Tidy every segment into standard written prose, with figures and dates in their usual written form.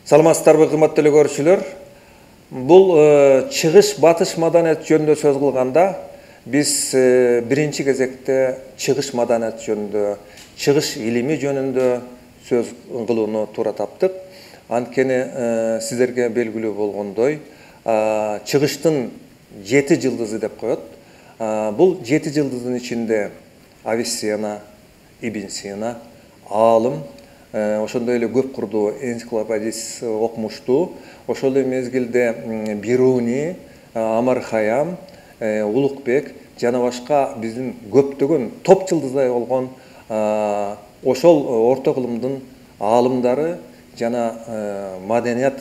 Саламатсыздарбы, кымбаттуу көрүүчүлөр? Бул чыгыш батыш маданият жөнүндө сөз кылганда биз биринчи кезекте чыгыш маданият жөнүндө, чыгыш илими жөнүндө сөз кылууну туура таптык. Анткени сиздерге белгилүү болгондой, чыгыштын 7 жылдызы деп коет. Бул 7 жылдыздын ичинде Авиценна, Ибн Сина, аалым, ошондой эле көп курдуу энциклопедист окумуштуу, ошол эле мезгилде Бируни, Амар Хаям, Улукбек жана башка биздин көптөгөн топ жылдыздай болгон ошол орто кылымдын аалымдары жана маданият,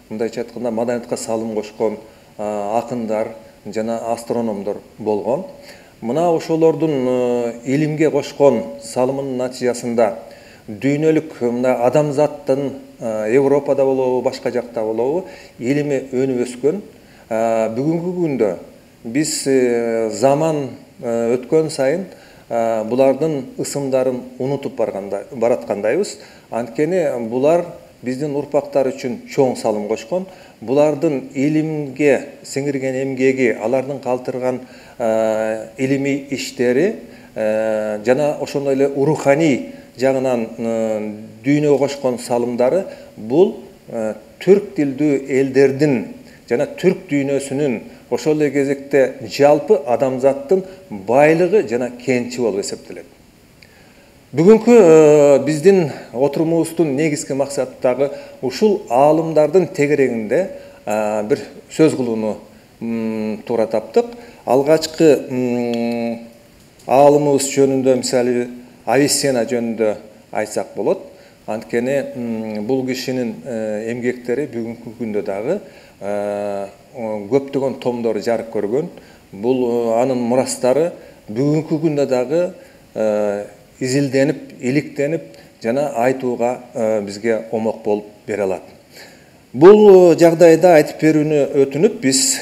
мындайча айтканда маданиятка салым кошкон акындар жана астрономдор болгон. Мына ошолордун илимге кошкон салымынын натыйжасында дүйнөлүк мына адамзаттын Европада болобу, башка жакта болобу, илими өнүп өскөн. Бүгүнкү күндө биз заман өткөн сайын булардын ысымдарын унутуп бараткандайбыз. Анткени булар биздин урпактар үчүн чоң салым кошкон. Булардын илимге сиңирген эмгеги, алардын калтырган илимий иштери жана ошондой эле руханий жагынан дүйнөгө кошкон салымдары бул түрк тилдүү элдердин жана түрк дүйнөсүнүн ошол эле кезекте жалпы адамзаттын байлыгы жана кенчи болуп эсептелет. Бүгүнкү биздин отурумубуздун негизги максаты дагы ушул аалымдардын тегерегинде бир сөз кылууну туура таптык. Алгачкы аалымыбыз жөнүндө, мисалы Авиценна жөнүндө айтсак болот. Анткени бул кишинин эмгектери бүгүнкү күндө дагы көптөгөн томдору жарык көргөн. Бул анын мурастары бүгүнкү күндө дагы изилденип, иликтенип жана айтууга бизге омок болуп бере алат. Бул жагдайда айтып берүүнү өтүнүп, биз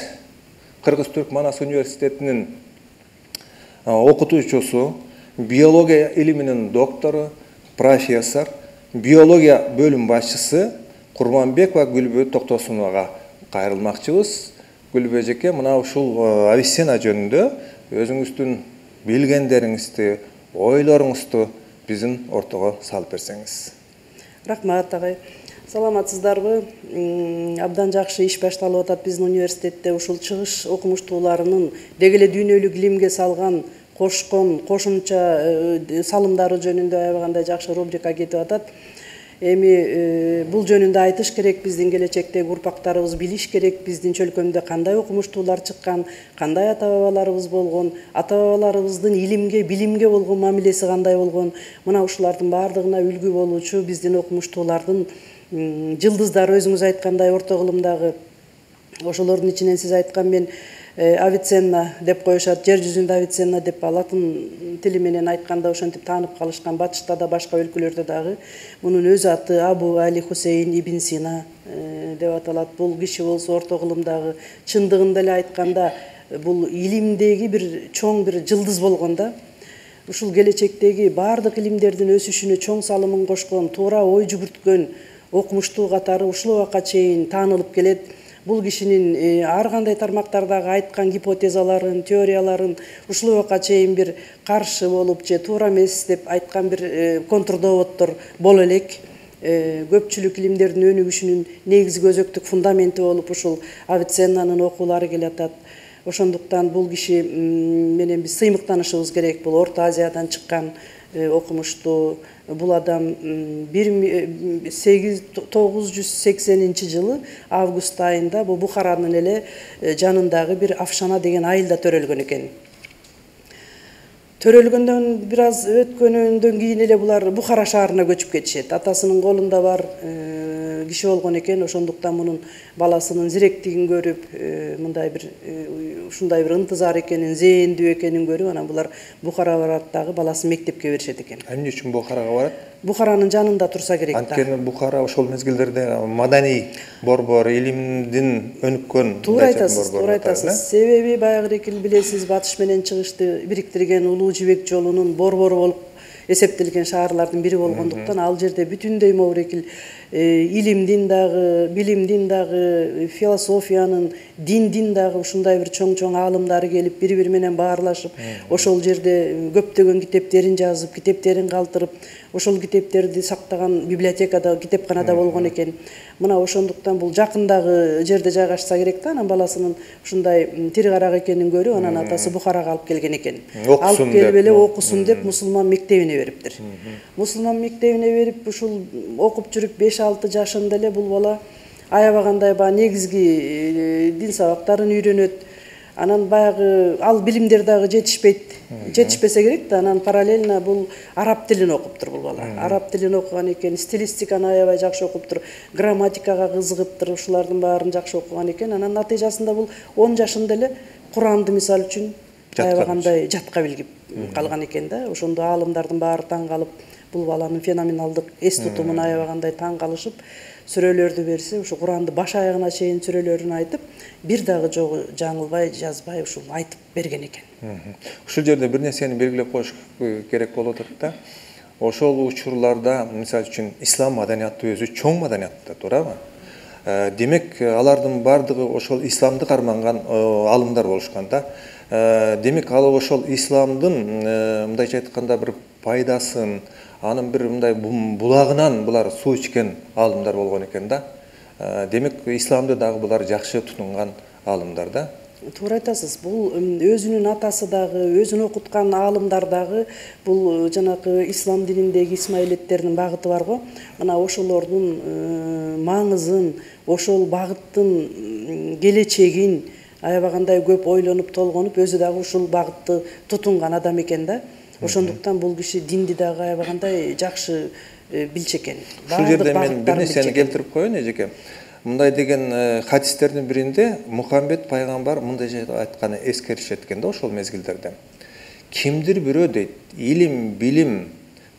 Кыргыз-Түрк Манас университетинин окутуучусу, биология илиминин доктору, профессор, биология бөлүм башчысы Курманбекова Гүлбү Токтосуновага кайрылмакчыбыз. Гүлбү эжеке, мына ушул Авиценна жөнүндө өзүңүздүн билгендериңизди, ойлоруңузду биздин ортого салып берсеңиз. Рахмат агай. Саламатсыздарбы? Абдан жакшы иш башталып атат биздин университетте. Ушул чыгыш окумуштууларынын деги эле дүйнөлүк илимге салган кошкон кошумча салымдары жөнүндө аябагандай жакшы рубрика кетип атат. Эми бул жөнүндө айтыш керек, биздин келечектеги урпактарыбыз билиш керек, биздин чөлкөмдө кандай окумуштуулар чыккан, кандай ата-бабаларыбыз болгон, ата-бабаларыбыздын илимге, билимге болгон мамилеси кандай болгон. Мына ушулардын баардыгына үлгү болуучу биздин окумуштуулардын жылдыздары, өзүңүз айткандай орто кылымдагы ошолордун ичинен сиз айткан мен Авиценна деп коюшат, жер жүзүндө Авиценна деп латын тили менен айтканда ошентип таанып калышкан. Батышта да башка өлкөлөрдө дагы мунун өз аты Абу Али Хусейн Ибн Сина деп аталат. Бул киши болсо орто кылымдагы чындыгында эле айтканда бул илимдеги бир чоң бир жылдыз болгон да. Ушул келечектеги баардык илимдердин өсүшүнө чоң салымын кошкон, туура ой жүгүрткөн окумуштуу катары ушул убакка чейин таанылып келет. Бул кишинин ар кандай тармактардагы айткан гипотезаларын, теорияларын ушул убакка чейин бир каршы болуп же туура эмес деп айткан бир контрдоводдор боло элек. Көпчүлүк илимдердин өнүгүшүнүн негизги өзөктүк фундаменти болуп ушул Авиценнанын окуулары келатат. Ошондуктан бул киши менен биз сыймыктанышыбыз керек. Бул Орто Азиядан чыккан окумуштуу. Бул адам 1980 жылы август айында бул Бухаранын эле жанындагы бир Афшана деген айылда төрөлгөн экен. Төрөлгөндөн бир аз өткөндөн кийин эле булар Бухара шаарына көчүп кетишет. Атасынын колунда бар киши болгон экен. Ошондуктан мунун баласынын зиректигин көрүп, мындай бир ушундай бир ынтызар экенин, зээндүү экенин көрүп, анан булар Бухарага барат дагы баласын мектепке беришет экен. Эмне үчүн Бухарага барат? Бухаранын жанында турса керек да. Анткени Бухара ошол мезгилдерде маданий борбор, илимдин өнүккөн. Туура айтасыз. Себеби баягы экил билесиз, батыш менен чыгышты бириктирген улуу жибек жолунун борбору болуп эсептелген шаарлардын бири болгондуктан ал жерде бүтүндөй могурекил илимдин дагы, билимдин дагы, философиянын, диндин дагы ушундай бир чоң аалымдары келип бири-бири менен баарлашып, ошол жерде көптөгөн китептерин жазып, китептерин калтырып, ошол китептерди сактаган библиотекада, китепканада болгон экен. Мына ошондуктан бул жакындагы жерде жайгашса керек да, анан баласынын ушундай тири карак экенин көрүп, анан атасы Бухарага алып келген экен. Алып келип эле окусун деп мусулман мектебине бериптир. Мусулман мектебине берип, ушул окуп жүрүп 5-6 жашында эле бул бала аябагандай негизги дин сабактарын үйрөнөт. Анан баягы ал билимдер дагы жетишпесе керек да, анан параллельно бул араб тилин окуптур бул бала. Араб тилин окуган экен, стилистиканы аябай жакшы окуптур, грамматикага кызыгыптыр, ушулардын баарын жакшы окуган экен. Анан натыйжасында бул 10 жашында эле Куранды мисалы үчүн аябагандай жатка билип калган экен да. Ошондо аалымдардын баары таң калып, бул баланын феноменалдык эс тутумуна аябагандай таң калышып, сүрөлөрдү берсе, ушу Куранды баш аягына чейин сүрөлөрүн айтып, бир дагы жогу жаңылбай, жазбай ушул айтып берген экен. Ушул жерде бир нерсени белгилеп коюш керек болуп атат да. Ошол учурларда, мисалы үчүн, ислам маданияты өзү чоң маданияттар, туурабы? Демек, алардын бардыгы ошол исламды карманган аалымдар болушкан да. Демек, ал ошол исламдын, мындайча айтканда, бир пайдасын, анын бир мындай булагынан булар суу ичкен аалымдар болгон экен да. Демек, исламды дагы булар жакшы тутунган аалымдар да. Туура айтасыз. Бул өзүнүн атасы дагы, өзүн окуткан аалымдар дагы бул жанагы ислам дининдеги исмаилеттердин багыты бар го. Мына ошолордун маңызын, ошол багыттын келечегин аябагандай көп ойлонуп, толгонуп, өзү дагы ушул багытты тутунган адам экен да. Ошондуктан бул киши динди дагы аябагандай жакшы билчү экен. Ушул жерде мен бир нерсени келтирип коеюн, эжеке. Мындай деген хадистердин биринде Мухаммед пайгамбар мындай айтканы эскеришет экен да ошол мезгилдерде. Кимдир бирөө дейт, илим, билим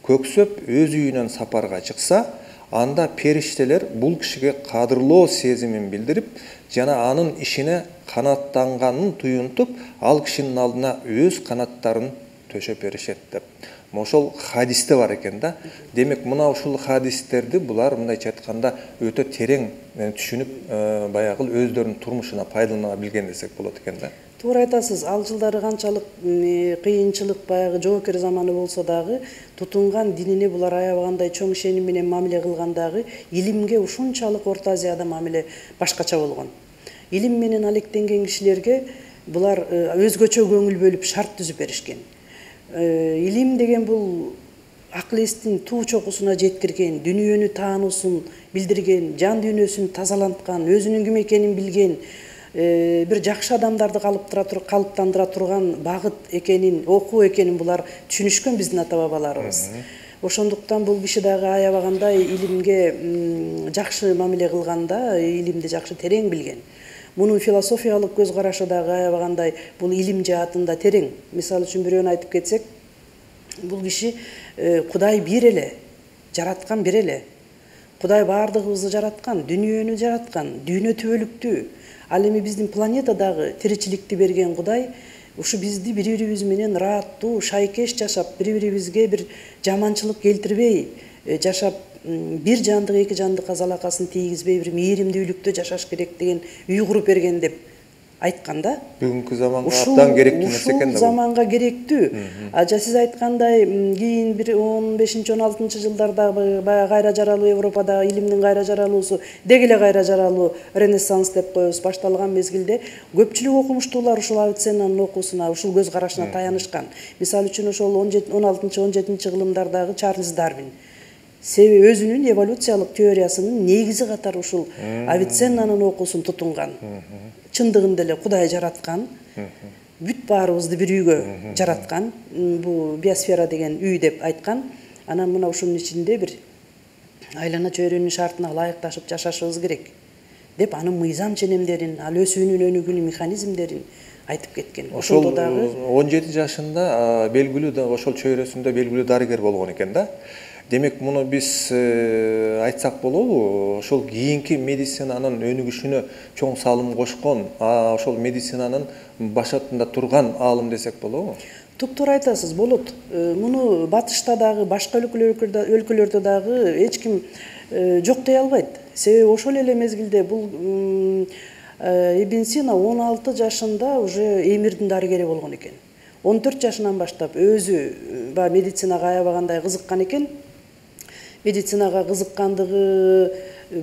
көксөп өз үйүнөн сапарга чыкса, анда периштелер бул кишиге кадырлоо сезимин билдирип, жана анын ишине канаттанганын туюнтуп, ал кишинин алдына өз канаттарын төшөп беришет деп. Ошол хадисте бар экен да. Демек, мына ушул хадистерди булар мындайча айтканда өтө терең түшүнүп, баягы өздөрүнүн турмушуна пайдалана билген десек болот экен да. Туура айтасыз. Ал жылдары канчалык кыйынчылык, баягы жоокер заманы болсо дагы, тутунган динине булар аябагандай чоң ишеним менен мамиле кылган дагы, илимге ушунчалык Орто Азияда мамиле башкача болгон. Илим менен алектенген кишилерге булар өзгөчө көңүл бөлүп шарт түзүп беришкен. Илим деген бул акыл эстин туу чокусуна жеткирген, дүйнөнү таануусун билдирген, жан дүйнөсүн тазаланткан, өзүнүн ким экенин билген, бир жакшы адамдарды калыптандыра турган багыт экенин, окуу экенин булар түшүнүшкөн биздин ата бабаларыбыз. Ошондуктан бул киши дагы аябагандай илимге жакшы мамиле кылганда, илимди жакшы терең билген. Мунун философиялык көз карашы дагы аябагандай бул илим жаатында терең. Мисалы үчүн бирөөнү айтып кетсек, бул киши Кудай бир эле, жараткан бир эле. Кудай баардыгыбызды жараткан, дүйнөнү жараткан, дүйнө түбөлүктүү. Ал эми биздин планетадагы тиричиликти берген Кудай ушу бизди бири-бирибиз менен ырааттуу, шайкеш жашап, бири-бирибизге бир жаманчылык келтирбей жашап, бир жандык эки жандыкка залакасын тийгизбей, бир мээримдүүлүктө жашаш керек деген үй куруп берген деп айткан да. Бүгүнкү заманга абдан керектүү нерсе экен да. Ушул заманга керектүү. Сиз айткандай, кийин бир 15-16 жылдарда баягы кайра жаралуу Европада илимдин кайра жаралуусу, деги эле кайра жаралуу Ренессанс деп коебуз башталган мезгилде көпчүлүк окумуштуулар ушул Авиценнанын окуусуна, ушул көз карашына таянышкан. Мисалы үчүн ошол 16-17 кылымдардагы Чарльз Дарвин себеби өзүнүн эволюциялык теориясынын негизи катары ушул Авиценнанын окуусун тутунган. Чындыгында эле Кудай жараткан, бүт баарыбызды бир үйгө жараткан, бул биосфера деген үй деп айткан. Анан мына ушунун ичинде бир айлана чөйрөнүн шартына ылайыкташып жашашыбыз керек деп анын мыйзам ченемдерин, ал өсүүнүн өнүгүүнүн механизмдерин айтып кеткен. Ошол дагы 17 жашында белгилүү ошол чөйрөсүндө белгилүү дарыгер болгон экен да. Демек муну биз айтсак болобу, ошол кийинки медицинанын өнүгүшүнө чоң салым кошкон, ошол медицинанын башатында турган аалым десек болобу? Туптуура айтасыз, болот. Муну батышта дагы, башка өлкөлөрдө дагы эч ким жок дей албайт. Себеби ошол эле мезгилде бул Ибн Сина 16 жашында уже эмирдин дарыгери болгон экен. 14 жашынан баштап өзү медицинага аябагандай кызыккан экен. Медицинага кызыккандыгы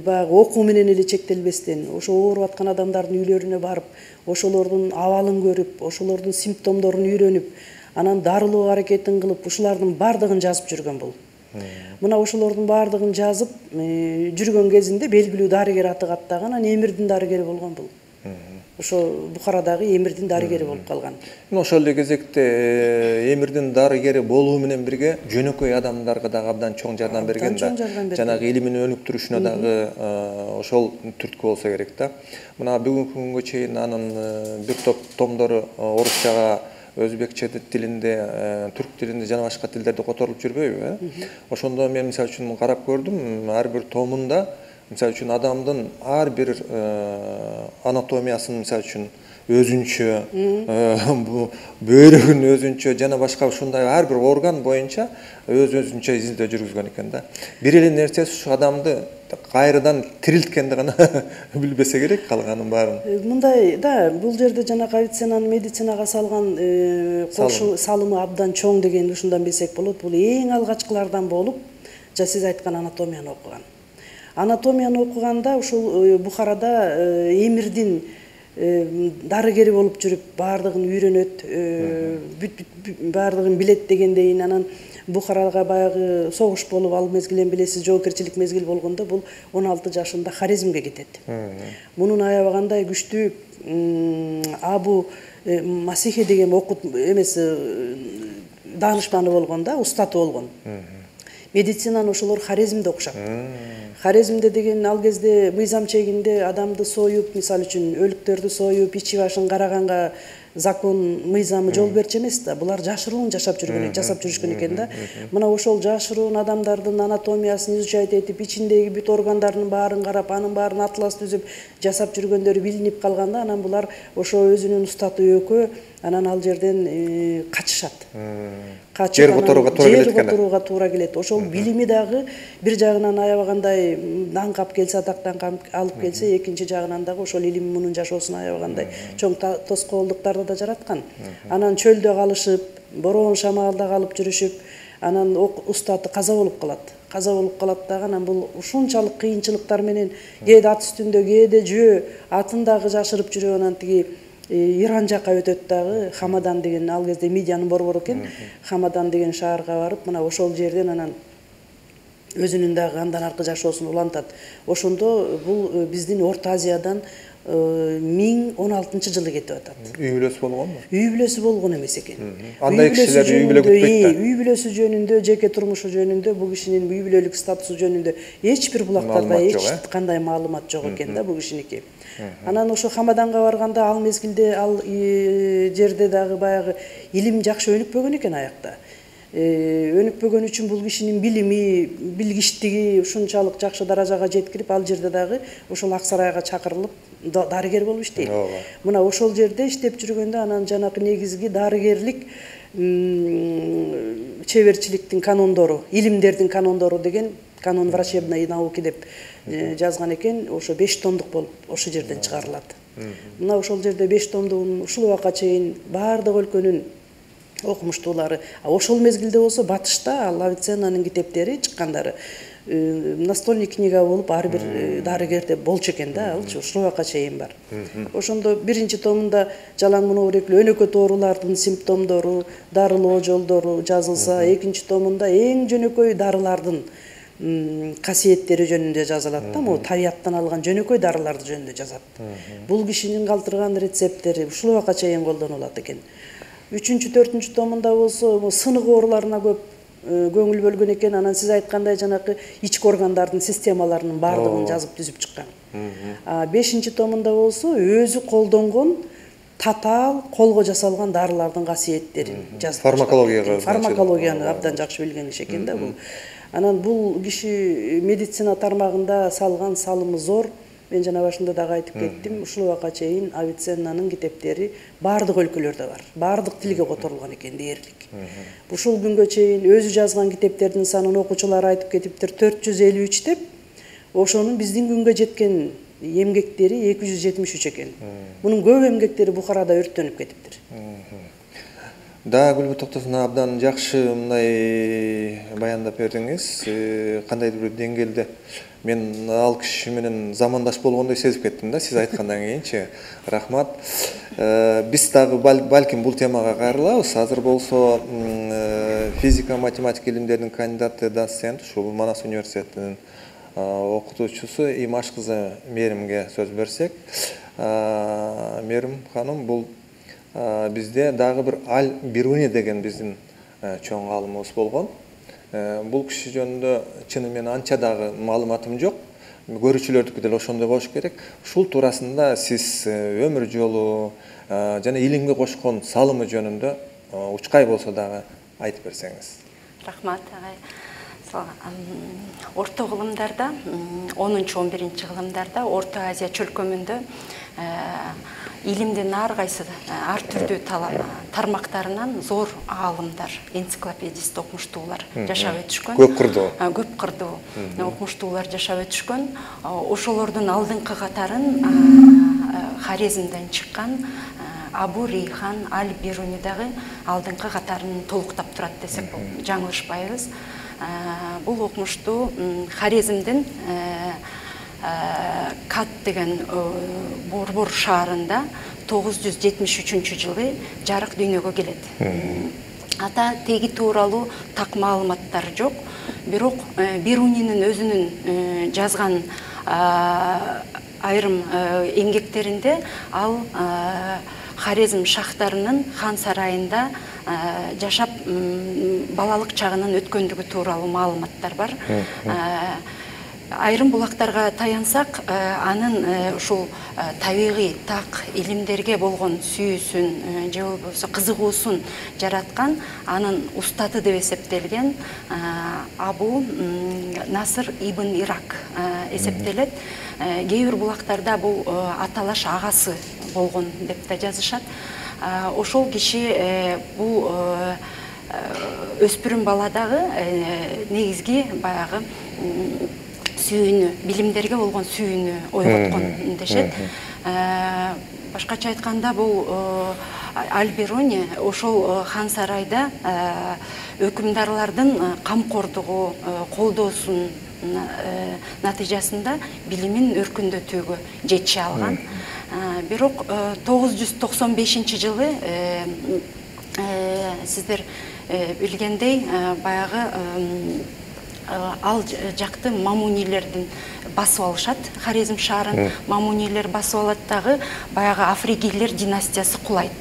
баягы окуу менен эле чектелбестен, ошо ооруп аткан адамдардын үйлөрүнө барып, ошолордун абалын көрүп, ошолордун симптомдорун үйрөнүп, анан дарылоо аракетин кылып, ушулардын баардыгын жазып жүргөн бул. Мына ошолордун баардыгын жазып жүргөн кезинде белгилүү дарыгер аты каттаган, анан эмирдин дарыгери болгон бул. Ошо Бухарадагы эмирдин дарыгери болуп калган. Ошол эле кезекте эмирдин дарыгери болуу менен бирге жөнөкөй адамдарга дагы абдан чоң жардам берген да. Жанагы илимин өнүктүрүшүнө дагы ошол түрткү болсо керек да. Мына бүгүнкү күнгө чейин анын бир топ томдору орусчага, өзбекче тилинде, түрк тилинде жана башка тилдерде которулуп жүрбөйбү? Ошондо мен мисалы үчүн карап көрдүм, ар бир томунда мисалы үчүн адамдын ар бир анатомиясын мисалы үчүн өзүнчө, бөйрөгүн өзүнчө жана башка ушундай ар бир орган боюнча өзүнчө изилдөө жүргүзгөн экен да. Бир эле нерсеси ушу адамды кайрадан тирилткенди гана билбесе керек, калганын баарын. Мындай да, бул жерде жана Авиценнанын медицинага салган салымы абдан чоң деген ушундан билсек болот. Бул эң алгачкылардан болуп, сиз айткан анатомияны окуган. Анатомияны окуганда ушул Бухарада эмирдин дарыгери болуп жүрүп, баардыгын үйрөнөт, баардыгын билет дегендейин. Анан Бухарага баягы согуш болуп, ал мезгилен билесиз, жоопкерчилик мезгил болгондо бул 16 жашында Хорезмге кетет. Мунун аябагандай күчтүү Абу Масихи деген окут даанышманы болгон да, устаты болгон. Медицинаны ошолор Хорезмде окушат. Хорезмде деген ал кезде мыйзам чегинде адамды союп, мисалы үчүн өлүктөрдү союп, ичи башын караганга закон мыйзамы жол берчү эмес да. Булар жашыруун жасап жүрүшкөн экен да. Мына ошол жашыруун адамдардын анатомиясын изучать этип, ичиндеги бүт органдардын баарын карап, анын баарын атлас түзүп жасап жүргөндөрү билинип калганда, анан булар ошо өзүнүн устаты өкө, анан ал жерден качышат. Жер которууга туура келет. Ошол билими дагы бир жагынан аябагандай даңкап келсе, атактан алып келсе, экинчи жагынан дагы ошол илим мунун жашоосуна аябагандай чоң тоскоолдуктарды да жараткан. Анан чөлдө калышып, бороон шамалда калып жүрүшүп, анан устаты каза болуп калат. Каза болуп калат дагы, анан бул ушунчалык кыйынчылыктар менен кээде ат үстүндө, кээде жөө атын дагы жашырып жүрүп, анан тиги Иран жака өтөт дагы, Хамадан деген, ал кезде Мидиянын борбору экен, Хамадан деген шаарга барып, мына ошол жерден анан өзүнүн дагы андан аркы жашоосун улантат. Ошондо бул биздин Орто Азиядан 1016-жылы кетип атат. Үй бүлөсү болгонбу? Үй бүлөсү болгон эмес экен. Андай кишилер үй бүлө күтпөйт да. Үй бүлөсү жөнүндө, жеке турмушу жөнүндө, бул кишинин үй бүлөлүк статусу жөнүндө эч бир булактарда эч кандай маалымат жок экен да бул кишиники. Анан ошо Хамаданга барганда ал мезгилде ал жерде дагы баягы илим жакшы өнүкпөгөн экен аякта. Өнүкпөгөн үчүн бул кишинин билими, билгичтиги ушунчалык жакшы даражага жеткирип, ал жерде дагы ошол Ак сарайга чакырылып дарыгер болуп иштейт. Мына ошол жерде иштеп жүргөндө анан жанакы негизги дарыгерлик чеберчиликтин канондору, илимдердин канондору деген канон врачебной науки деп жазган экен. Ошо 5 томдук болуп ошол жерден чыгарылат. Мына ошол жерде 5 томдугун ушул убакка чейин баардык өлкөнүн окумуштуулары, ошол мезгилде болсо батышта ал Авиценнанын китептери чыккандары настольный книга болуп ар бир дарыгерде болчу экен да, алчы ушул убакка чейин бар. Ошондо биринчи томунда жалаң монобуреклүү өнөкөт оорулардын симптомдору, дарылоо жолдору жазылса, экинчи томунда эң жөнөкөй дарылардын касиеттери жөнүндө жазылат да, могу табияттан алган жөнөкөй дарыларды жөнүндө жазат. Бул кишинин калтырган рецепттери ушул убакка чейин колдонулат экен. 3-4 томунда болсо сынык ооруларына көп көңүл бөлгөн экен. Анан сиз айткандай жанакы ички органдардын системаларынын баардыгын жазып түзүп чыккан. 5 томунда болсо өзү колдонгон татаал колго жасалган дарылардын касиеттерин жазып. Фармакологияны абдан жакшы билген киши экен да бул. Анан бул киши медицина тармагында салган салымы зор. Мен жана башында дагы айтып кеттим, ушул убакка чейин Авиценнанын китептери баардык өлкөлөрдө бар. Баардык тилге которулган экен дээрлик. Ушул күнгө чейин өзү жазган китептердин санын окуучулар айтып кетиптир 453 деп. Ошонун биздин күнгө жеткен эмгектери 273 экен. Мунун көп эмгектери Бухарада өрттөнүп кетиптир. Да, Гүлбү Токтосуна абдан жакшы мындай баяндап бердиңиз. Кандайдыр бир деңгээлде мен ал киши менен замандаш болгондой сезип кеттим да, сиз айткандан кийинчи. Рахмат. Биз дагы балким бул темага кайрылабыз. Азыр болсо физика, математика илимдеринин кандидаты, доцент, ушул Манас университетинин окутуучусу Имаш кызы Меримге сөз берсек. Мерим ханым, бул бизде дагы бир Аль-Бируни деген биздин чоң аалымыбыз болгон. Бул киши жөнүндө чыны менен анча дагы маалыматым жок. Көрүүчүлөрдүкү деле ошондой болуш керек. Ушул туурасында сиз өмүр жолу жана илимге кошкон салымы жөнүндө учкай болсо дагы айтып берсеңиз. Рахмат агай. Орто кылымдарда 10-11 кылымдарда Орто Азия чөлкөмүндө илимдин ар кайсы ар түрдүү тармактарынан зор аалымдар, энциклопедист окумуштуулар жашап өтүшкөн. Көп кырдуу окумуштуулар жашап өтүшкөн. Ошолордун алдыңкы катарын Хорезмден чыккан Абу Рейхан Аль-Бируни дагы алдыңкы катарын толуктап турат десек жаңылышпайбыз. Бул окумуштуу Хорезмдин Кат деген Борбор шаарында 973-жылы жарык дүйнөгө келет. Ата теги тууралуу так маалыматтар жок, бирок Бирунинин өзүнүн жазган айрым эмгектеринде ал Хорезм шахтарынын хан сарайында жашап балалык чагынын өткөндүгү тууралуу маалыматтар бар. Айрым булактарга таянсак, анын ушул табигый так илимдерге болгон сүйүүсүн же болбосо кызыгуусун жараткан анын устаты деп эсептелген Абу Насыр ибн Ирак эсептелет. Кээ бир булактарда бул аталаш агасы болгон деп да жазышат. Ошол киши бул өспүрүм баладагы негизги баягы сүйүүнү, билимдерге болгон сүйүүнү ойготкон дешет. Башкача айтканда бул Аль-Бируни ошол хан сарайда өкүмдарлардын камкордугу, колдоосунун натыйжасында билимин өркүндөтүүгө жетише алган. Бирок 995-жылы сиздер билгендей баягы ал жакты мамунилердин басып алышат. Хорезм шаарын мамунилер басып алат дагы, баягы Афригилер династиясы кулайт.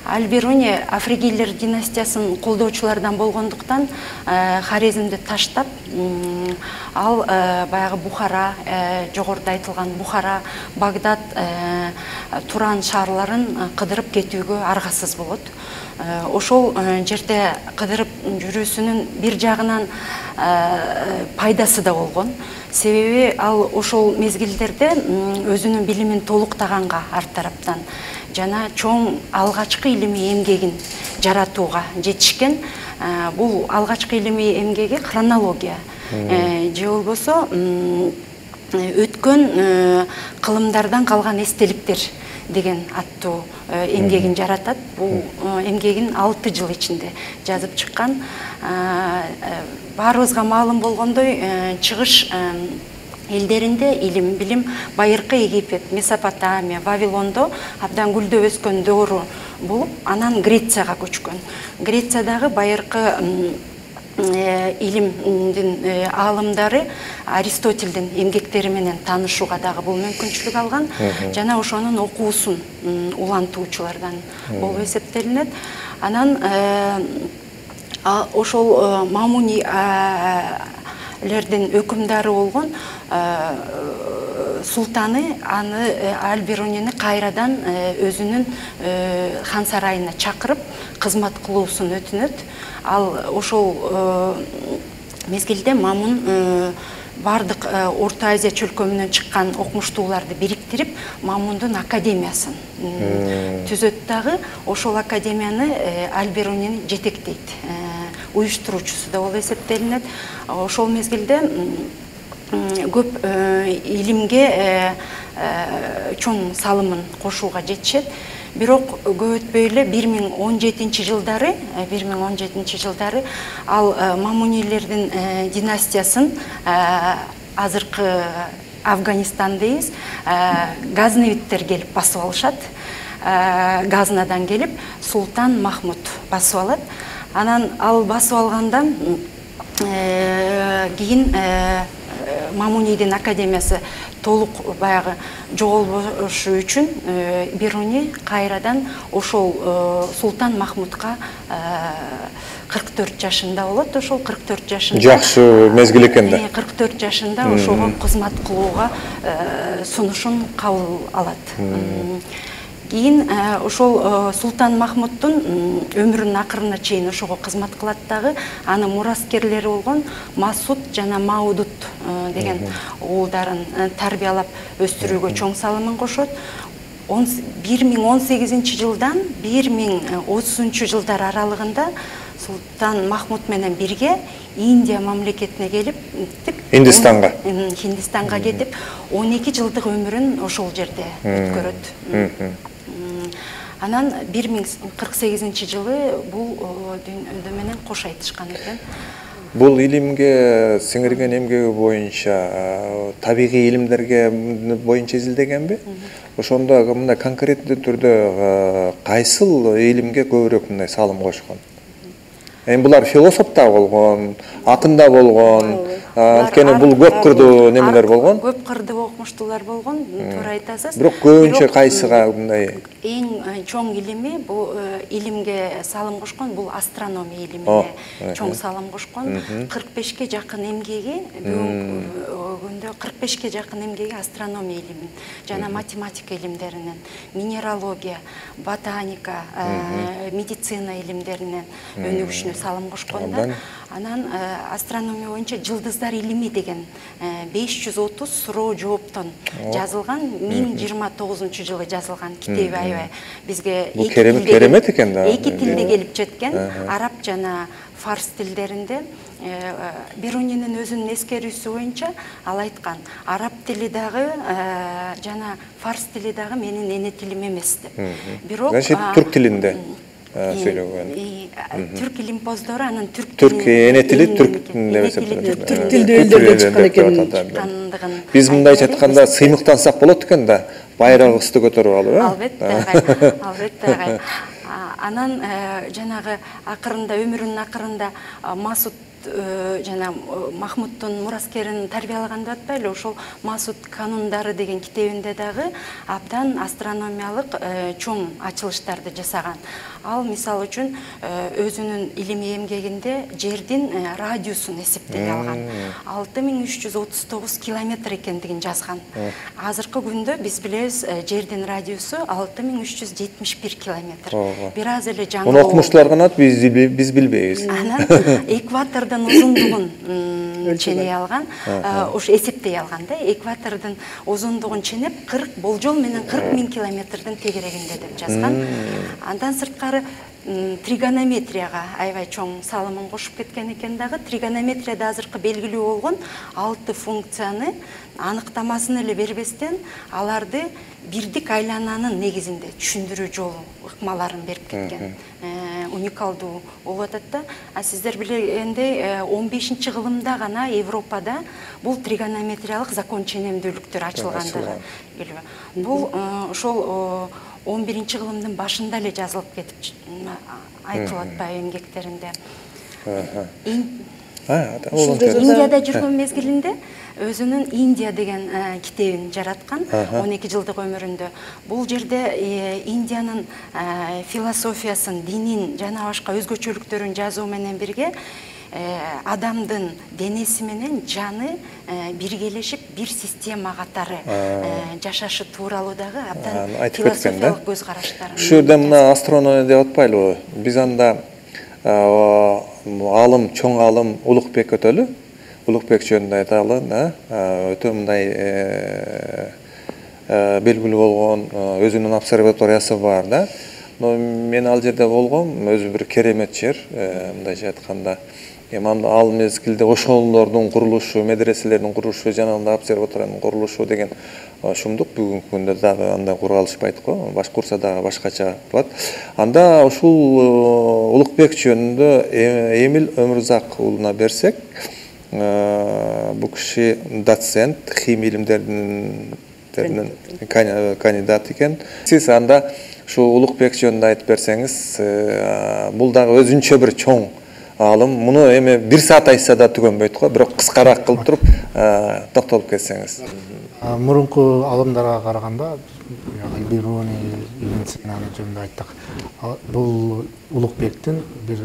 Аль-Бируни Афригилер династиясын колдоочулардан болгондуктан Хорезмди таштап, ал баягы Бухара, жогоруда айтылган Бухара, Багдад, Туран шаарларын кыдырып кетүүгө аргасыз болот. Ошол жерде кыдырып жүрүүсүнүн бир жагынан пайдасы да болгон. Себеби ал ошол мезгилдерде өзүнүн билимин толуктаганга арт тараптан жана чоң алгачкы илимий эмгегин жаратууга жетишкен. Бул алгачкы илимий эмгеги хронология же болбосо өткөн кылымдардан калган эстеликтер деген аттуу эмгегин жаратат. Бул эмгегин 6 жыл ичинде жазып чыккан. Баарыбызга маалым болгондой, чыгыш элдеринде илим, билим байыркы Египет, Месопотамия, Вавилондо абдан гүлдөп өскөн доору болуп, анан Грецияга көчкөн. Грециядагы байыркы илимдин аалымдары Аристотелдин эмгектери менен таанышууга дагы бул мүмкүнчүлүк алган. Жана ошонун окуусун улантуучулардан болуп эсептелинет. Анан ошол мамунилердин өкүмдары болгон султаны аны Аль-Бирунини кайрадан өзүнүн хан сарайына чакырып кызмат кылуусун өтүнөт. Ал ошол мезгилде Мамун бардык Орто Азия чөлкөмүнөн чыккан окумуштууларды бириктирип, Мамундун академиясын түзөт дагы. Ошол академияны Алберуни жетектейт. Уюштуруучусу да болуп эсептелинет. Ошол мезгилде көп илимге чоң салымын кошууга жетишет. Бирок көп өтпөй эле 1017 жылдары ал Мамунилердин династиясын азыркы Афганистандайбыз Газневиттер келип басып алышат. Газнадан келип Султан Махмуд басып алат. Анан ал басып алгандан кийин Мамунидин академиясы толук баягы жоголбошу үчүн Беруни кайрадан ошол Султан Махмудка 44 жашында болот. Ошол 44 жашында жакшы мезгил экен да. 44 жашында ошого кызмат кылууга сунушун кабыл алат. Кийин ошол Султан Махмуддун өмүрүнүн акырына чейин ошого кызмат кылат дагы. Анын мураскерлери болгон Масуд жана Маудуд деген уулдарын тарбиялап өстүрүүгө чоң салымын кошот. 1018 жылдан 1030 жылдар аралыгында Султан Махмуд менен бирге Индия мамлекетине келип, Хиндистанга кетип, 12 жылдык өмүрүн ошол жерде өткөрөт. Анан 1048 жылы бул дүйнөдө менен кош айтышкан экен. Бул илимге сиңирген эмгеги боюнча табигый илимдерге боюнча изилдегенби? Ошондо мындай конкреттүү түрдө кайсыл илимге көбүрөөк мындай салым кошкон? Эми булар философ да болгон, акын да болгон, анткени бул көп кырдуу немелер болгон. Көп кырдуу окумуштуулар болгон, туура айтасыз. Бирок көбүнчө кайсыга мындай? Эң чоң илими, бул илимге салым кошкон, бул астрономия илимине чоң салым кошкон. 45ке жакын эмгеги, бүгүнкү күндө 45ке жакын эмгеги астрономия илимин жана математика илимдеринен, минералогия, ботаника, медицина илимдеринен өнүгүшүнө салым кошкон да. Анан астрономия боюнча жылдыздар илими деген 530 суроо жооптон жазылган, 1029 жылы жазылган китеби аябай бизге керемет экен да. Эки тилде келип жеткен, араб жана фарс тилдеринде. Берунинин өзүнүн эскерүүсү боюнча ал айткан, араб тили дагы жана фарс тили дагы менин эне тилим эмес деп. Бирок түрк тилинде сүйлөгөн. Түрк илимпоздору анын түрк эне тили түрк тилинде эсептелет. Түрк тилдүү элдерден чыккан экен. Биз мындайча айтканда сыймыктансак болот экен да, байрагыбызды көтөрүп алып, Албетте. Анан жанагы акырында өмүрүнүн акырында Масуд жана Махмуддун мураскерин тарбиялаган деп атпайлы, ошол Масуд канундары деген китебинде дагы абдан астрономиялык чоң ачылыштарды жасаган. Ал мисалы үчүн өзүнүн илимий эмгегинде жердин радиусун эсептей алган. 6339 километр экендигин жазган. Азыркы күндө биз билебиз, жердин радиусу 6371 километр. Бир аз эле жаңы. Муну окумуштуулар канат, биз билбейбиз. Анан экватордун узундугун ченей алган, ошо эсептей алган да. Экватордун узундугун ченеп 40 болжол менен 40 000 километрдин тегерегинде деп жазган. Андан сырткары тригонометрияга аябай чоң салымын кошуп кеткен экен дагы. Тригонометрияда азыркы белгилүү болгон 6 функцияны аныктамасын эле бербестен аларды бирдик айлананын негизинде түшүндүрүү жолу ыкмаларын берип кеткен. Уникалдуу болуп атат да. Сиздер билгендей 15-кылымда гана Европада бул тригонометриялык закон ченемдүүлүктөр ачылгандыгы белгилүү. Бул ошол 11-кылымдын башында эле жазылып кетип айтылып атпайбы эмгектеринде. Индияда жүргөн мезгилинде өзүнүн Индия деген китебин жараткан 12 жылдык өмүрүндө. Бул жерде Индиянын философиясын, динин жана башка өзгөчөлүктөрүн жазуу менен бирге адамдын денеси менен жаны биргелешип бир система катары жашашы тууралуу дагы абдан философиялык көз караштарын. Ушул жерде мына астрономия деп атпайлыбы? Биз анда алым, чоң алым Улукбек өтөлү. Улукбек жөнүндө айталы, өтө мындай белгилүү болгон өзүнүн обсерваториясы бар да. Но мен ал жерде болгом, өзү бир керемет жер, мындайча айтканда. Ал мезгилде ошолордун курулушу, медреселердин курулушу, жана обсерваториянын курулушу деген шумдук. Бүгүнкү күндө дагы андай кура алышпайт го. Башкурса дагы башкача болот. Анда ушул Улукбек жөнүндө Эмил Өмүрзак уулуна берсек, бул киши доцент, химия илимдеринин кандидат экен. Сиз анда ушу Улукбек жөнүндө айтып берсеңиз, бул дагы өзүнчө бир чоң алым. Муну эми 1 саат айтса да түгөнбөйт го, бирок кыскараак кылып туруп токтолуп кетсеңиз. Мурунку алымдарга караганда, Алберуни, Ибн Синаны жөнүндө айттык. Бул Улукбектин бир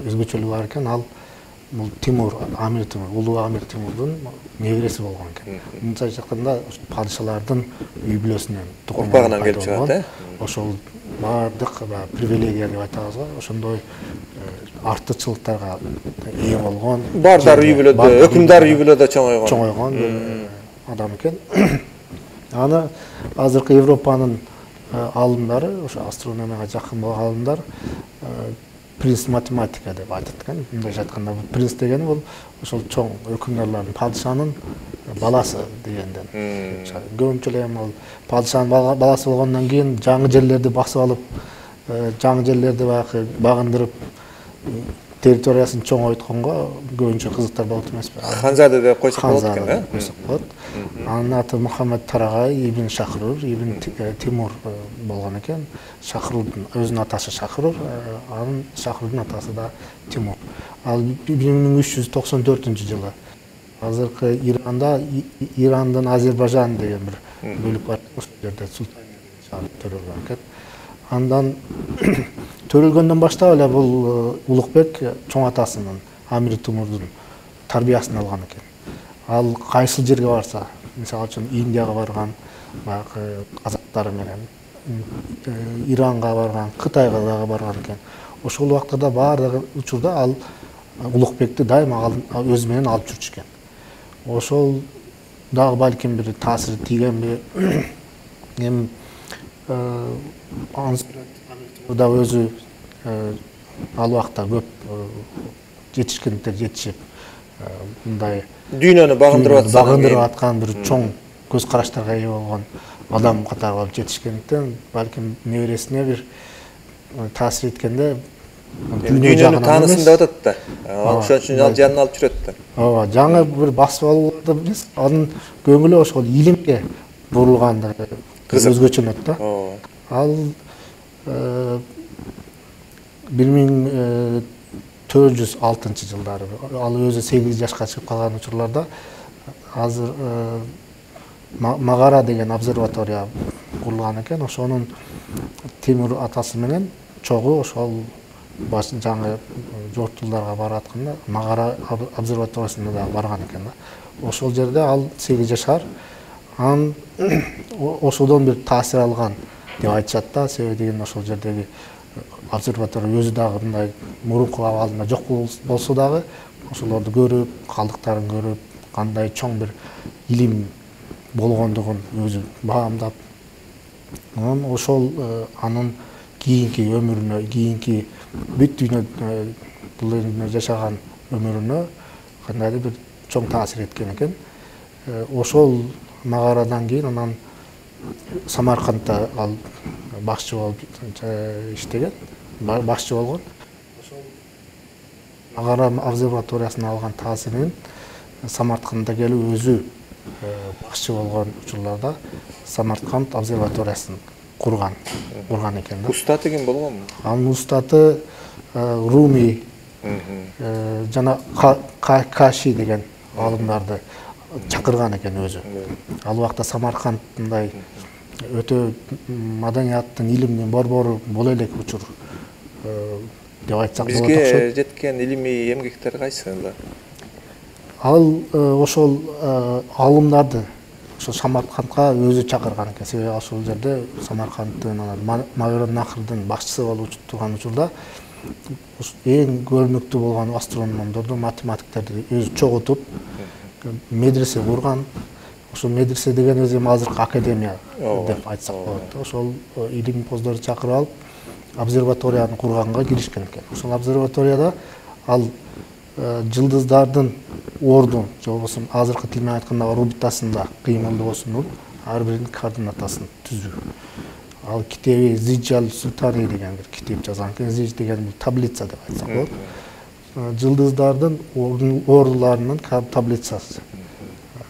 өзгөчөлүгү бар экен. Ал бул Тимур, Амир Тимур, улуу Амир Тимурдун небереси болгон экен. Мындайча айтканда, падышалардын үй бүлөсүнөн, тукумунан келип чыгат, ошол баардык привилегия деп айтабыз го, ошондой артыкчылыктарга ээ болгон. Бардар үй бүлөдө, өкүмдар үй бүлөдө чоңойгон адам экен. Аны азыркы Европанын алымдары, ошо астрономияга жакын болгон алымдар принц математика деп айтат экен. Мындайча айтканда, принц дегени бул ошол чоң өкүмдарлардын, падышанын баласы дегенден. Көбүнчө эле ал падышанын баласы болгондон кийин жаңы жерлерди басып алып, жаңы жерлерди багындырып, территориясын чоңойтконго көбүнчө кызыктар болот эмеспи? Ханзаде деп койсок болот экен, болот. Анын аты Мухаммед Тарагай Ибн Шахрур, Ибн Тимур болгон экен. Шахрурдун өзүнүн атасы Шахрур, анын Шахрурдун атасы да Тимур. Ал 1394-жылы азыркы Ирандын Азербайжан деген бир бөлүк бар, ошол жерде султан төрөлгөн экен. Андан төрөлгөндөн баштап эле бул Улукбек чоң атасынын, Амир Тимурдун тарбиясын алган экен. Ал кайсыл жерге барса, мисалы үчүн Индияга барган, баягы казактары менен, Иранга барган, Кытайга дагы барган экен. Ошол убактарда баардык учурда ал Улукбекти дайыма өзү менен алып жүрчү экен. Ошол дагы балким бир таасири тийгенби? Эми да өзү ал убакта көп жетишкендиктер жетишип, мындай дүйнөнү багындырып аткан бир чоң көз караштарга ээ болгон адам катары болуп жетишкендиктен, балким небересине бир таасир эткенде дүйнөнү таанысын деп атат да. Ошон үчүн ал жанына алып жүрөт да. Ооба, жаңы бир басып алууларды эмес, анын көңүлү ошол илимге бурулгандыгы өзгөчөнөт да. Ал 1406-жылдары, ал өзү 8 жашка чыгып калган учурларда азыр Магара деген обсерватория курулган экен. Ошонун Тимур атасы менен чогуу ошол жаңы жортулдарга баратканда Магара обсерваториясына да барган экен да. Ошол жерде ал 8 жашар. Анан ошодон бир таасир алган деп айтышат да. Себеби деген ошол жердеги обсерватория өзү дагы мындай мурунку абалында жок болсо дагы, ошолорду көрүп, калдыктарын көрүп, кандай чоң бир илим болгондугун өзү баамдап, анан ошол анын кийинки өмүрүнө, кийинки бүт дүйнө бул дүйнөдө жашаган өмүрүнө кандайдыр бир чоң таасир эткен экен. Ошол Магарадан кийин анан Самаркандда ал башчы болуп иштеген, башчы болгон. Ошол Магара обсерваториясына алган таасирин Самаркандда келип өзү башчы болгон учурларда Самарканд обсерваториясын курган экен да. Устаты ким болгон? Анын устаты Руми жана Каши деген алымдарды чакырган экен өзү. Ал убакта Самарканд мындай өтө маданияттын, илимдин борбору боло элек учур деп айтсак болот окшойт. Бизге жеткен илимий эмгектер кайсы? Ал ошол алымдарды ошол Самаркандга өзү чакырган экен. Себеби ошол жерде Самаркандтын Мавер-нахрдын башчысы болуп турган учурда эң көрүнүктүү болгон астрономдорду, математиктерди өзү чогултуп медресе курган. Ошол медресе деген өзү азыркы академия деп айтсак болот. Ошол илимпоздорду чакырып алып обсерваторияны курганга киришкен экен. Ошол обсерваторияда ал жылдыздардын ордун же болбосо азыркы тил менен айтканда орбитасында кыймылдоосунун ар биринин координатасын түзүү. Ал китеби Зиджал Султани деген бир китеп жазган экен. Зиж деген бул таблица деп айтсак болот. Жылдыздардын ордуларынын таблицасы.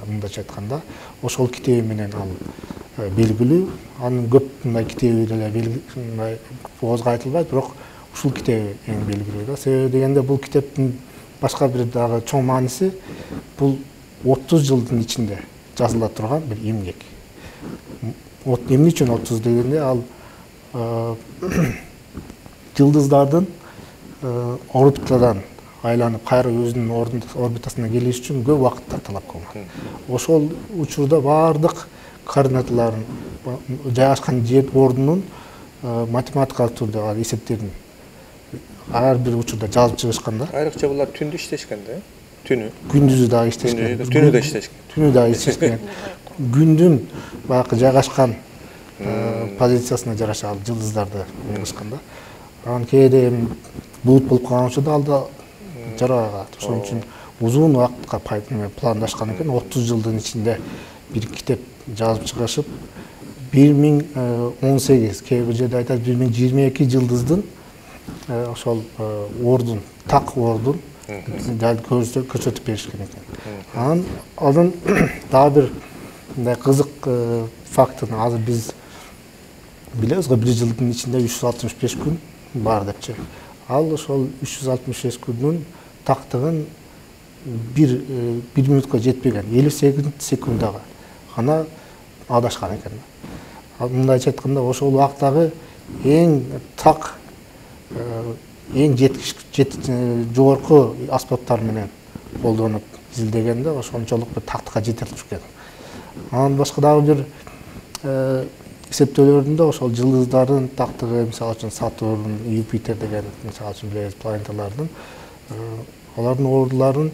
Мындайча айтканда, ошол китеби менен ал белгилүү. Анын көп мындай китеби деле оозго айтылбайт, бирок ушул китеби эң белгилүү да. Себеби дегенде бул китептин башка бир дагы чоң мааниси бул 30 жылдын ичинде жазыла турган бир эмгек. Эмне үчүн 30 дегенде ал жылдыздардын орбитадан айланып кайра өзүнүн орбитасына келиш үчүн көп убакыттар талап кылган. Ошол учурда баардык координаталарын жайгашкан жер ордунун математикалык түрдө эсептерин ар бир учурда жазып чыгышкан да. Айрыкча булар түндү иштешкен да, түнү. Күндүзү дагы иштешкен. Түнү да иштешкен. Түнү дагы иштешкен. Күндүн баягы жайгашкан позициясына жараша ал жылдыздарды кылышкан да. Анан кээде булут болуп калган учурда ал да жарабайт. Ошон үчүн узун убакытка пландашкан экен. 30 жылдын ичинде бир китеп жазып чыгышып 1018, кээ бир жерде айтат 1022 жылдыздын ошол ордун, так ордун дал көрсөтүп беришкен экен. Анан дагы бир мындай кызык фактын азыр биз билебиз го, бир жылдын ичинде 365 күн бар депчи. Ал ошол 365 күндүн тактыгын бир мүнөткө жетпеген 58 секундага гана адашкан экен. Мындайча айтканда ошол убактагы эң так, эң жогорку аспаптар менен колдонуп изилдегенде ошончолук бир тактыкка жетирип жүргөн. Анан башка дагы бир эсептөөлөрүндө ошол жылдыздардын тактыгы, мисалы үчүн Сатурн, Юпитер деген мисалы үчүн билебиз планеталардын алардын ордуларын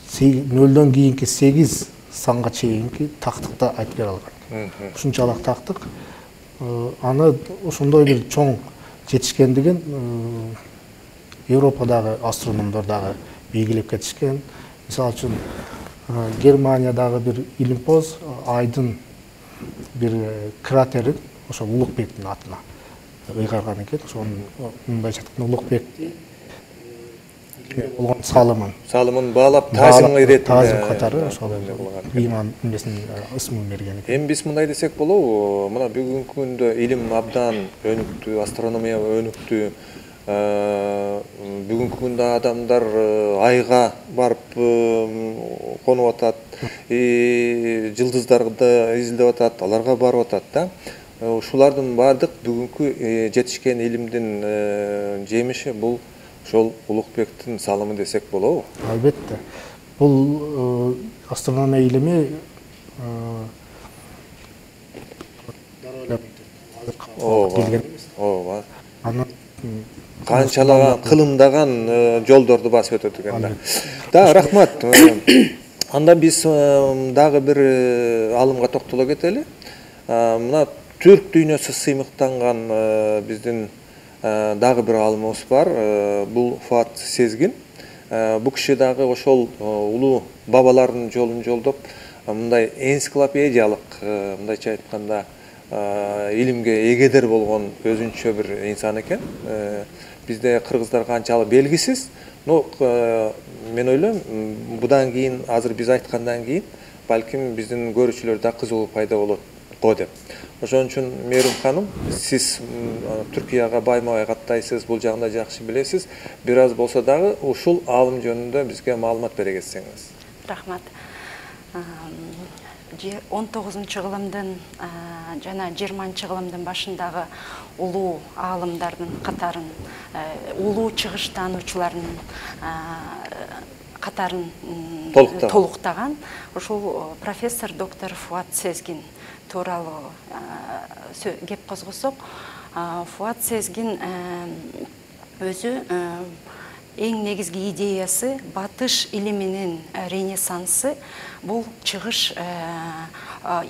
0-дөн кийинки 8 санга чейинки тактыкта айтып бере алган. Ушунчалык тактык. Аны ошондой бир чоң жетишкендигин Европадагы астрономдор дагы белгилеп кетишкен. Мисалы үчүн Германиядагы бир илимпоз Айдын бир кратерин ошол Улукбектин атына ыйгарган экен. Ошонун мындайча айтканда Улукбекти болгон салымын баалап таазим иретинде таазим катары ошол иман эмесин ысмын берген экен. Эми биз мындай десек болобу, мына бүгүнкү күндө илим абдан өнүктү, астрономия өнүктү. Бүгүнкү күндө адамдар айга барып конуп атат, жылдыздарды изилдеп атат, аларга барып атат да. Ушулардын баардык бүгүнкү жетишкен илимдин жемиши бул ошол Улукбектин салымы десек болобу? Албетте. Бул астрономия илими ооба. Анан канчалаган кылымдаган жолдорду басып өтөт экен да. Да, рахмат. Анда биз дагы бир алымга токтоло кетели. Мына Түрк дүйнөсү сыймыктанган биздин дагы бир алымыбыз бар. Бул Фуат Сезгин. Бул киши дагы ошол улуу бабалардын жолун жолдоп, мындай энциклопедиялык, мындайча айтканда, илимге эгедер болгон өзүнчө бир инсан экен. Бизде кыргыздар канчалык белгисиз, но мен ойлойм, будан кийин азыр биз айткандан кийин балким биздин көрүүчүлөрдө кызыгуу пайда болот го деп. Ошон үчүн Мээрим ханым, сиз Түркияга байма-бай каттайсыз, бул жагында жакшы билесиз. Бир аз болсо дагы ушул алым жөнүндө бизге маалымат бере кетсеңиз. Рахмат. 19-кылымдын жана 20-кылымдын башындагы улуу аалымдардын катарын, улуу чыгыш таануучулардын катарын толуктаган ушул профессор доктор Фуат Сезгин тууралуу кеп козгосок, Фуат Сезгин өзү эң негизги идеясы батыш илиминин ренессансы бул чыгыш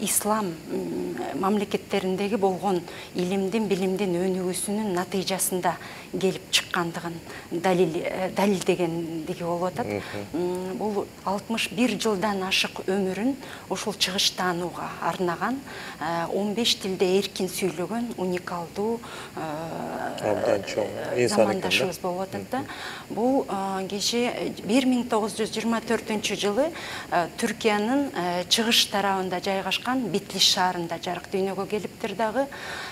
ислам мамлекеттериндеги болгон илимдин билимдин өнүгүүсүнүн натыйжасында келип чыккандыгын далилдегендиги болуп атат. Бул 61 жылдан ашык өмүрүн ушул чыгыш таанууга арнаган, 15 тилде эркин сүйлөгөн уникалдуу замандашыбыз болуп атат да. Бул киши 1924 жылы Түркиянын чыгыш тарабында жайгашкан Битлиш шаарында жарык дүйнөгө келиптир дагы.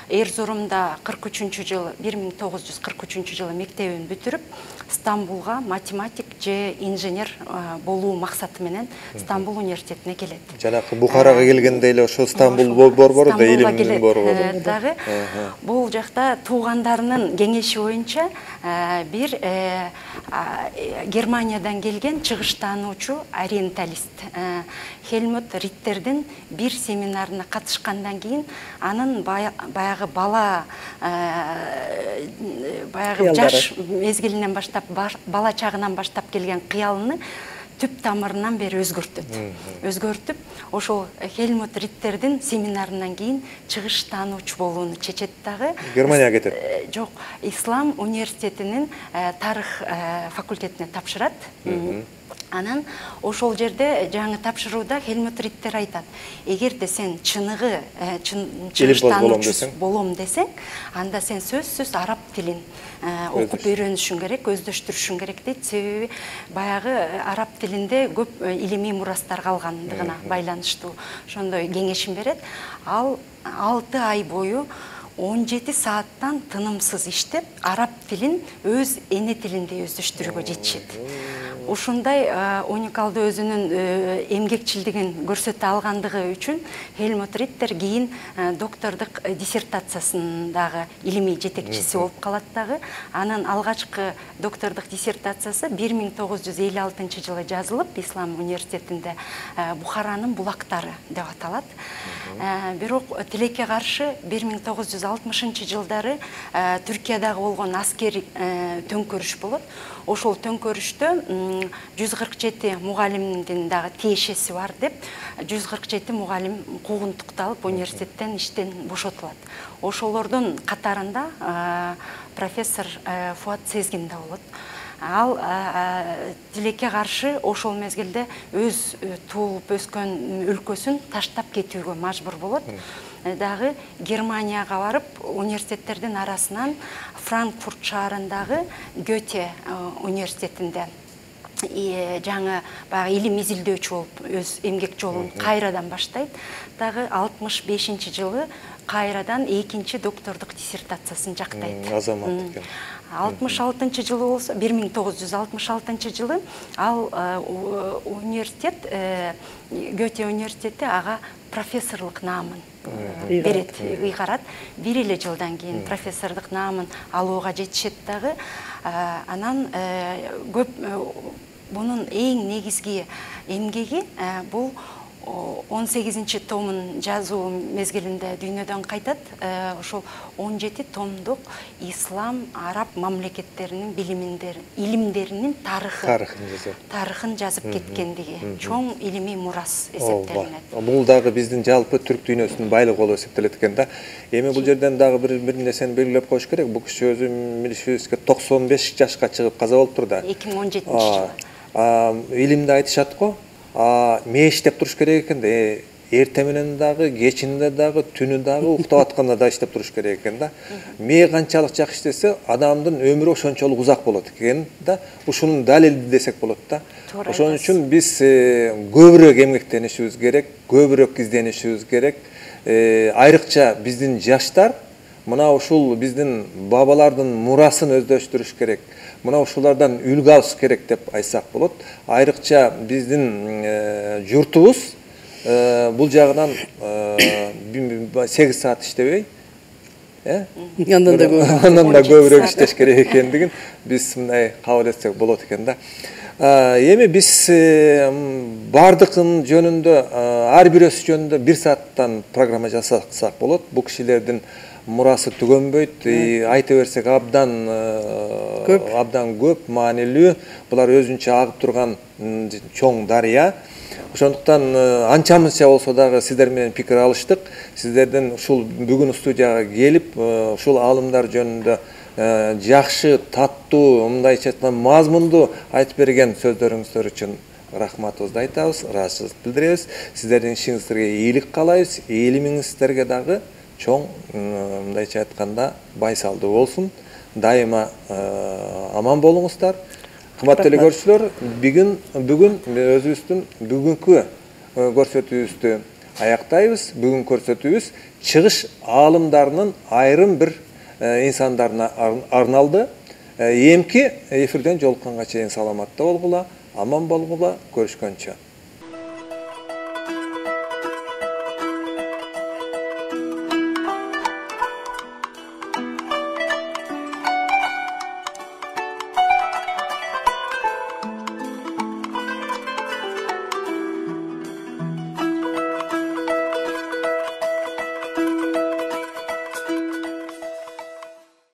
Эрзурумда 1943 жылы мектебин бүтүрүп, Стамбулга математик же инженер болуу максаты менен Стамбул университетине келет. Жанакы Бухарага келгенде эле ошо Стамбул борбору да илимдин борбору. Дагы бул жакта туугандарынын кеңеши боюнча бир Германиядан келген чыгыш таануучу ориенталист Хельмут Риттердин бир семинарына катышкандан кийин анын баягы жаш мезгилинен баштап, бала чагынан баштап келген кыялыны түп тамырынан бери өзгөртүп, ошол Хельмут Риттердин семинарынан кийин чыгыш таануучу болууну чечет дагы. Германияга кетет. Жок, Ислам университетинин тарых факультетине тапшырат. Анан ошол жерде жаңы тапшырууда Хельмут Риттер айтат: эгерде сен чыныгы чыгыш таануучу болом десең, анда сен сөзсүз араб тилин окуп үйрөнүшүң керек, өздөштүрүшүң керек дейт. Себеби баягы араб тилинде көп илимий мурастар калгандыгына байланыштуу ошондой кеңешин берет. Ал 6 ай бою 17 сааттан тынымсыз иштеп, араб тилин өз эне тилинде өздөштүрүүгө жетишет. Ушундай уникалдуу өзүнүн эмгекчилдигин көрсөтө алгандыгы үчүн Хельмут Риттер кийин доктордук диссертациясындагы илимий жетекчиси болуп калат дагы. Анын алгачкы доктордук диссертациясы 1956 жылы жазылып, Ислам университетинде Бухаранын булактары деп аталат. Бирок тилекке каршы 1960 жылдары Түркиядагы болгон аскери төңкөрүш болот. Ошол төңкөрүштө 147 мугалимдин дагы тиешеси бар деп 147 мугалим куугунтукталып университеттен иштен бошотулат. Ошолордун катарында профессор Фуат Сезгин да болот. Ал тилекке каршы ошол мезгилде өз туулуп өскөн өлкөсүн таштап кетүүгө мажбур болот. Дагы Германияга барып, университеттердин арасынан Франкфурт шаарындагы Гете университетинде жаңы илим изилдөөчү болуп өз эмгек жолун кайрадан баштайт. Дагы 65 жылы кайрадан экинчи доктордук диссертациясын жактайт. Азамат экен. 66 жылы болсо, 1966 жылы ал университет, Гете университети ага профессорлук наамын берет, ыйгарат. 1 эле жылдан кийин профессордук наамын алууга жетишет дагы. Анан көп бунун эң негизги эмгеги бул 18 томун жазуу мезгилинде дүйнөдөн кайтат. Ошол 17 томдук ислам, араб мамлекеттеринин илимдеринин тарыхын жазып кеткендиги чоң илимий мурас эсептелинет. Бул дагы биздин жалпы түрк дүйнөсүнүн байлыгы болуп эсептелет экен да. Эми бул жерден дагы бир нерсени белгилеп коюш керек. Бул киши өзү 95 жашка чыгып каза болуптур да. 2017-жылы. Илимди айтышат го. Иштеп туруш керек экен да. Эрте менен дагы, кечинде дагы, түнү дагы, уктап атканда да иштеп туруш керек экен да. Канчалык жакшы иштесе, адамдын өмүрү ошончолук узак болот экен да. Ушунун далили десек болот да. Ошон үчүн биз көбүрөөк эмгектенишибиз керек, көбүрөөк изденишибиз керек. Айрыкча биздин жаштар мына ушул биздин бабалардын мурасын өздөштүрүш керек. Мына ушулардан үлгү алыш керек деп айтсак болот. Айрыкча биздин журтубуз бул жагынан 8 саат иштебей, андан да көбүрөөк иштеш керек экендигин биз мындай кабыл этсек болот экен да. Эми биз бардыгынын жөнүндө, ар бирөөсү жөнүндө 1 сааттан программа жасасак болот. Бул кишилердин мурасы түгөнбөйт, айта берсек абдан көп маанилүү. Булар өзүнчө агып турган чоң дарыя. Ошондуктан анча-мынча болсо дагы сиздер менен пикир алыштык. Сиздерден ушул бүгүн студияга келип, ушул аалымдар жөнүндө жакшы, таттуу, мындайча айтканда мазмундуу айтып берген сөздөрүңүздөр үчүн рахматыбызды айтабыз, ыраазычылык билдиребиз. Сиздердин ишиңиздерге ийгилик каалайбыз. Элимиңиздерге дагы чоң, мындайча айтканда, байсалдуу болсун. Дайыма аман болуңуздар. Кымбаттуу эле көрүүчүлөр, бүгүн өзүбүздүн бүгүнкү көрсөтүүбүздү аяктайбыз. Бүгүн көрсөтүүбүз чыгыш аалымдарынын айрым бир инсандарына арналды. Эмки эфирден жолукканга чейин саламатта болгула, аман болгула, көрүшкөнчө.